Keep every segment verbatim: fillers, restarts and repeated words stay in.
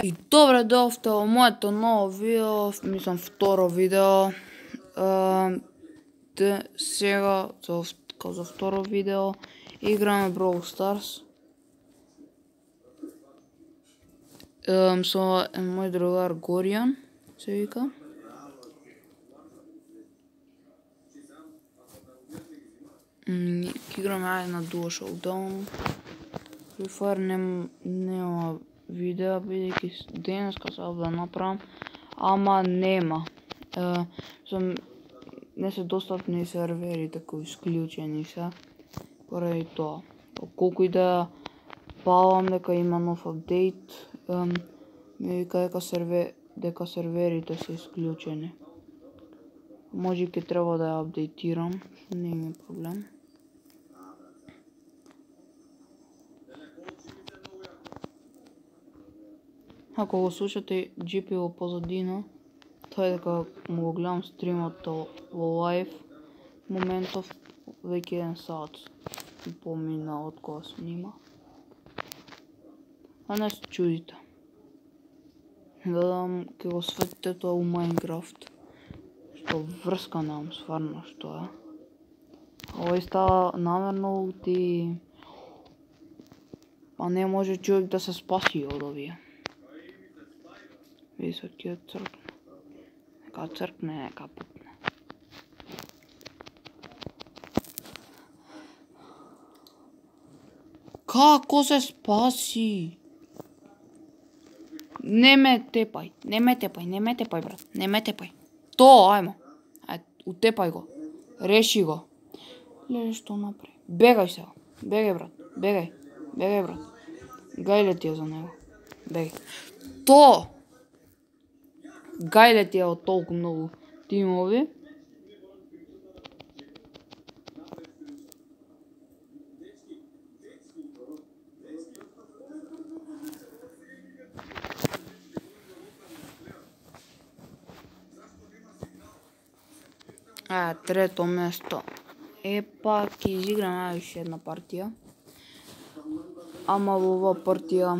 И добре дојавте во моето ново видео, мислам второ видео. Де сега за за второ видео играме Brawl Stars. Со мој другар Горијан се вика. Играме ајде на Duo Showdown. Free Fire нема видео, бидејќи денеска сакав да направам, ама нема. Не се достапни серверите кои исклучени се, поради тоа. Колку и да палам дека има нов апдейт, ми вика дека сервер дека серверите се исклучени. Може ќе треба да ја апдейтирам, не има проблем. Ако го слушате джи пи во позадина, тоа е дека му го гледам стримот во лайв. Моментов веќе еден сат и помина од кога снима. А не се чудите. Гледам ке го светите тоа у Майнкрафт. Што врска немам стварно што е. Овој става намерно улти. А не може човек да се спаси од овие. Види се ќе цркне. Нека цркне, нека пукне. Како се спаси? Не ме тепај, не ме тепај, не ме тепај, брат, не ме тепај. То, ајмо. Ај, утепај го. Реши го. Леле, што направи? Бегај сега. Бегај, брат. Бегај. Бегај, брат. Гајле ти е за него. Бегај. То! Гајле ти е од толку многу тимови. А, трето место. Епа, ќе изиграме уште една партија. Ама во оваа партија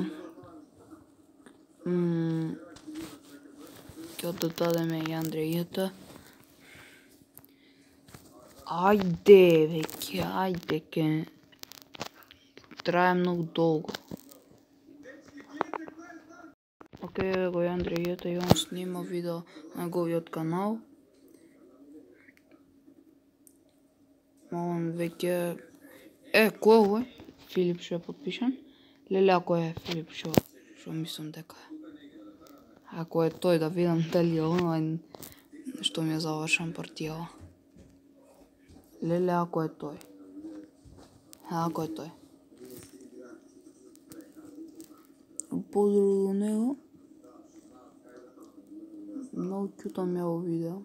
ќе додадеме и Андрејата. Ајде, веќе, ајде, ке трае многу долго. Океј, еве го и Андрејата и он снима видео на неговиот канал. Он веќе... Е, кој е овој? Филип што е подпишан? Леле, ако е Филип што, што мислам дека е. Ако е тој, да видам дали е онлайн, што ми е завршен партија. Леле, ако е тој. Ако е тој. Поздрав до него. Многу кјута ми е ово видео.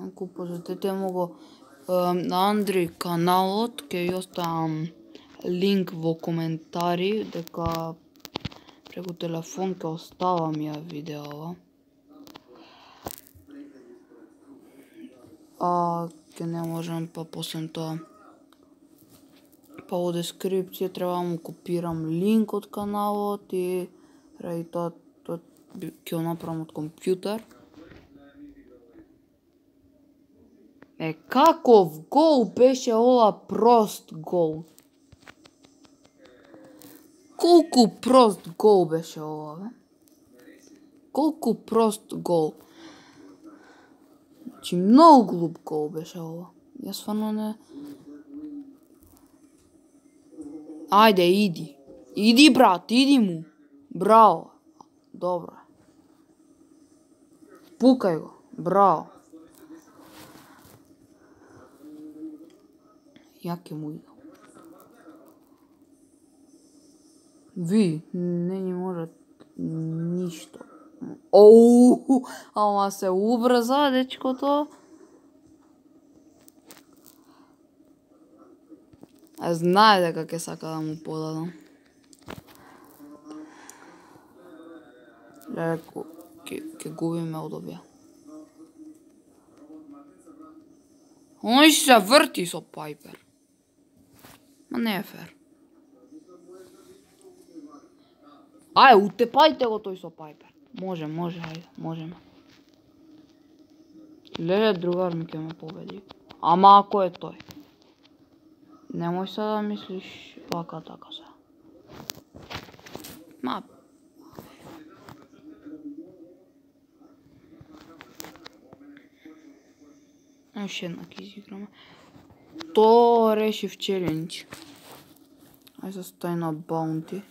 Ако посетите му го на Андри каналот, ќе ја оставам линк во коментари, дека преку телефон ќе оставам ја видео. А ќе не можам па после тоа. Па во дескрипција треба да му копирам линк од каналот и ради тоа ќе го направам од компјутер. Е, каков гол беше ова, прост гол? Колку прост гол беше ова, бе? Колку прост гол? Значи, многу глуп гол беше ова. Јас стварно не... Ајде, иди. Иди, брат, иди му. Браво. Добро. Пукај го. Браво. Ја ќе му идам. Ви, не ни може ништо. Оу, ама се убрза, дечкото. А знае дека ќе сака да му подадам. Леле, ќе губиме од овие. Оној си се врти со Пайпер. Ма не е фер. Ај, утепајте го тој со Пайпер. Може, може, ајде, можеме. Леле, другар ми ке ме победи. Ама ако е тој. Немој се да мислиш вака така се. Ма... Уште една ќе изиграме. То решив челендж. Ај се стај на баунти.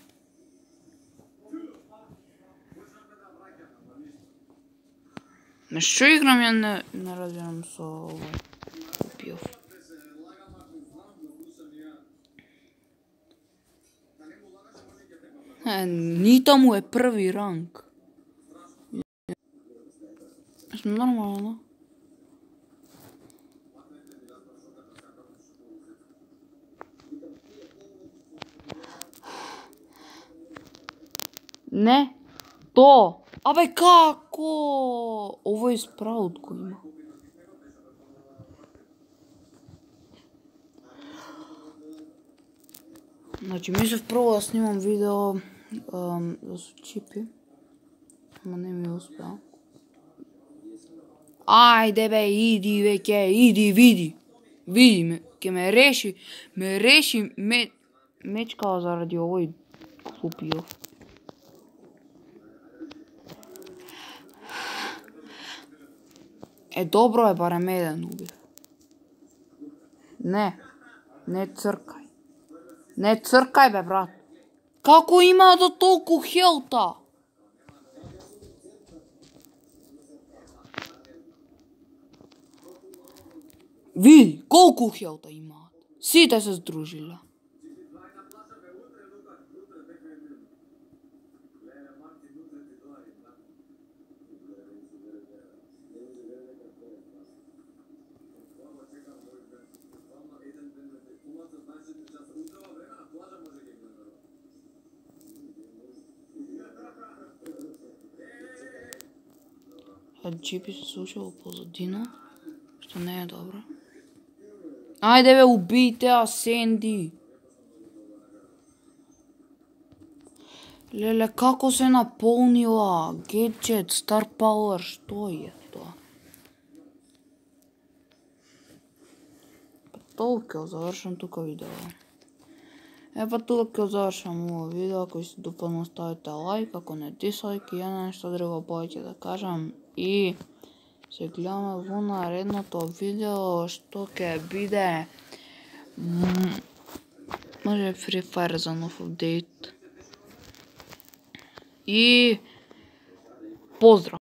На што играм ја не, не разбирам со овој купиов. Е, Нита му е први ранг. Сме нормално. Не, то. Абе како? Овој спраут го има. Значи, мислев прво да снимам видео ам, да со чипи. Ама не ми успеа. Ајде бе, иди веќе, иди, види. Види, ме, ке ме реши, ме реши, ме, мечкава заради овој купиов. Е, добро е, барем еден убив. Не, не цркај. Не цркај, бе, брат. Како има до толку хелта? Види, колку хелта имаат. Сите се здружиле. Джипи се слушало позадина, што не е добро. Ајде бе, убијте ја, Сенди. Леле, како се наполнила? Гаджет, Star Power, што е тоа? Па толку, завршам тука видео. Е, па тука завршам ово видео. Ако се допадна, ставите лайк, ако не дислайк, и ја нешто друго повеќе да кажам. И се гледаме во наредното видео, што ќе биде може Free Fire за нов апдейт. И поздрав!